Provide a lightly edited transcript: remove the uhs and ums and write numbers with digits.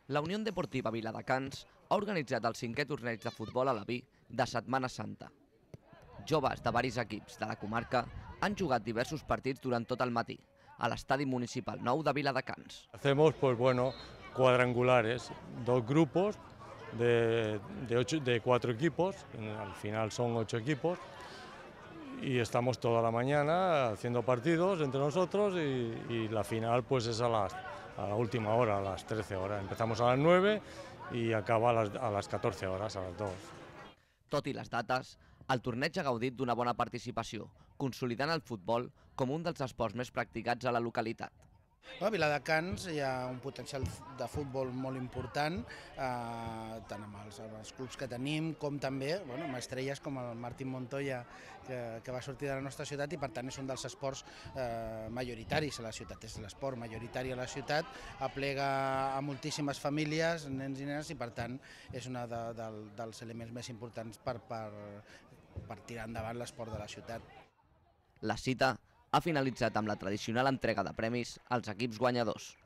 La Unió Deportiva Viladecans ha organitzat el 5è torneig de futbol a la Vi de Setmana Santa. Joves de varis equips de la comarca han jugat diversos partits durant tot el matí a l'estadi municipal nou de Viladecans. Hacemos cuadrangulares, dos grupos de 4 equipos, al final son 8 equipos, y estamos toda la mañana haciendo partidos entre nosotros y la final pues es a la última hora, a las 13 horas. Empezamos a las 9 y acaba a las 14 horas, a las 2. Tot i les dates, el torneig ha gaudit d'una bona participació, consolidant el futbol com un dels esports més practicats a la localitat. A Viladecans hi ha un potencial de futbol molt important, tant amb els clubs que tenim com també amb estrelles com el Martín Montoya, que va sortir de la nostra ciutat i per tant és un dels esports majoritaris a la ciutat. És l'esport majoritari a la ciutat, aplega a moltíssimes famílies, nens i nenes, i per tant és un dels elements més importants per tirar endavant l'esport de la ciutat. La cita ha finalitzat amb la tradicional entrega de premis als equips guanyadors.